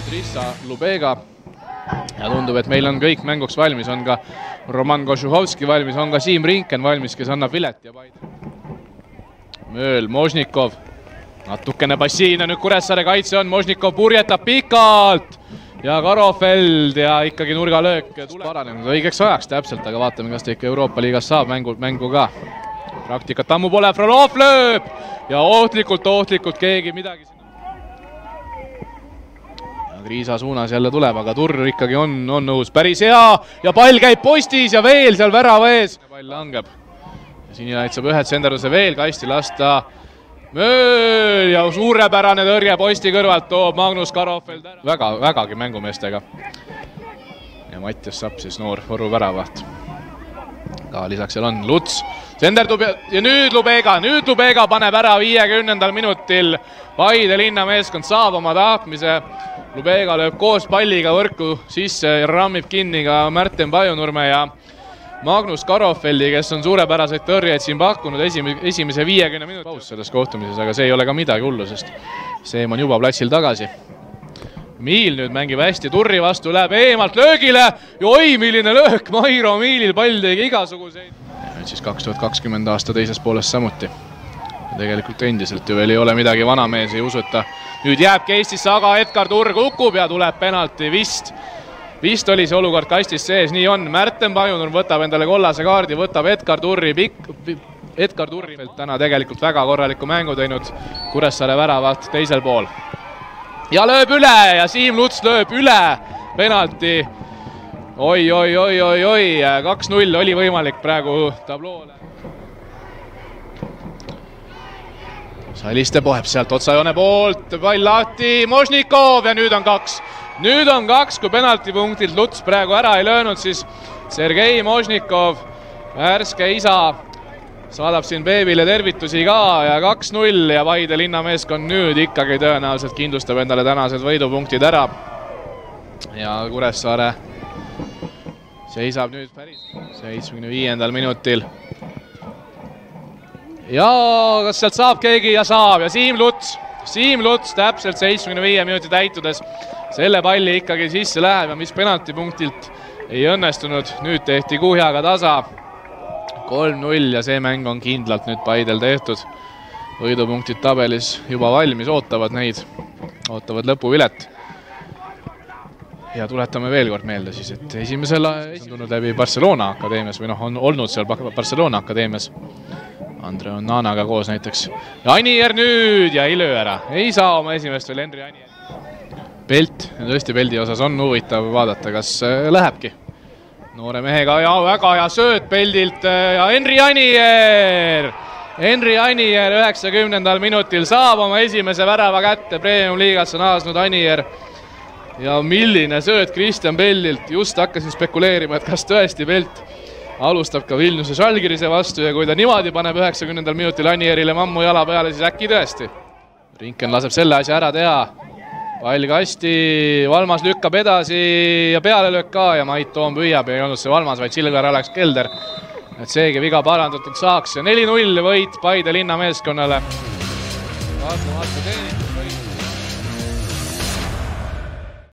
Trissa Lubega. Ja tundub, et meil on kõik mänguks valmis, on ka Roman Košuhovski valmis, on ka Siim Rinken valmis, kes annab vilet ja Paide. Mööl, Možnikov, natukene passiivne nüüd Kuressaare kaitse on, Možnikov purjetab pikalt ja Karofeld ja ikkagi nurgalöök paranenud õigeks ajaks täpselt, aga vaatame, kas ta ikka Euroopa liigas saab mängu ka. Praktikat ammu pole, Frolov lööb ja ohtlikult keegi midagi sinna. Kriisa suunas jälle tuleb, aga Turr ikkagi on nõus, päris hea ja pall käib postis ja veel seal värava ees. Pall langeb. Sinilaid saab ühed senderduse veel kasti lasta. Mööl ja suurepärane tõrje posti kõrvalt toob Magnus Karofeld ära. Vägagi mängumeestega. Ja Mattias Sapp siis noor Võru väravaht. Ka lisaks seal on Luts. Senderdub ja nüüd Lubega paneb ära 50. minutil. Paide linnameeskond saab oma tahtmise. Lubega lööb koos palliga võrku sisse ja rammib kinni ka Märten Pajunurme ja Magnus Karofeldi, kes on suurepäraseid tõrjeid siin pakkunud esimese 50 minuti paus selles kohtumises, aga see ei ole ka midagi hullu, sest Seem on juba platsil tagasi. Miil nüüd mängib hästi, Turri vastu läheb eemalt löögile ja oi, milline löök, Mairo Miilil pall tegi igasuguseid. Ja nüüd siis 2020 aasta teises pooles samuti. Tegelikult endiselt ju veel ei ole midagi, vanamees ei usu, et ta nüüd jääbki Eestisse, aga Edgar Turr kukub ja tuleb penalti vist oli see olukord kastis sees, nii on. Märten Pajunurm võtab endale kollase kaardi, võtab Edgar Turri täna tegelikult väga korraliku mängu teinud Kuressaare väravaht teisel pool. Ja lööb üle ja Siim Luts lööb üle penalti. Oi, 2-0 oli võimalik praegu tabloole. Saliste poheb sealt otsajoone poolt, pall lahti, Možnikov ja nüüd on 2. Nüüd on 2, kui penaltipunktilt Luts praegu ära ei löönud, siis Sergei Možnikov, värske isa, saadab siin beebile tervitusi ka ja 2-0 ja Paide linnameeskond nüüd ikkagi tõenäoliselt kindlustab endale tänased võidupunktid ära. Ja Kuressaare seisab nüüd päris 75. minutil. Ja kas sealt saab keegi ja saab ja Siim Luts täpselt 75 minuti täitudes selle palli ikkagi sisse läheb ja mis penaltipunktilt ei õnnestunud. Nüüd tehti kuhjaga tasa 3-0 ja see mäng on kindlalt nüüd Paidel tehtud. Võidupunktid tabelis juba valmis, ootavad lõpuvilet. Ja tuletame veel kord meelde siis, et esimesel on tulnud läbi Barcelona akadeemias või on olnud seal Barcelona akadeemias. Andre Onnanaga koos näiteks. Ja Anier nüüd ja ei löö ära. Ei saa oma esimest veel Henri Anier. Pelt, tõesti Peldi osas on huvitav vaadata, kas lähebki. Noore mehega ja väga hea sööt Peldilt ja Henri Anier 90. minutil saab oma esimese värava kätte. Premium liigasse naasnud Anier. Ja milline sööt Kristjan Peldilt. Just hakkasin spekuleerima, et kas tõesti Pelt alustab ka Vilniuse Žalgirise vastu ja kui ta niimoodi paneb 90. minutil Anierile mammu jala peale, siis äkki tõesti. Rinken laseb selle asja ära teha. Pall kasti, Valmas lükkab edasi ja peale löök ka ja Mait Toom püüab ja ei olnud see Valmas, vaid Silgar Alex Kelder. Et seegi viga parandatud saaks ja 4-0 võit Paide linnameeskonnale. Vaatame teenitud.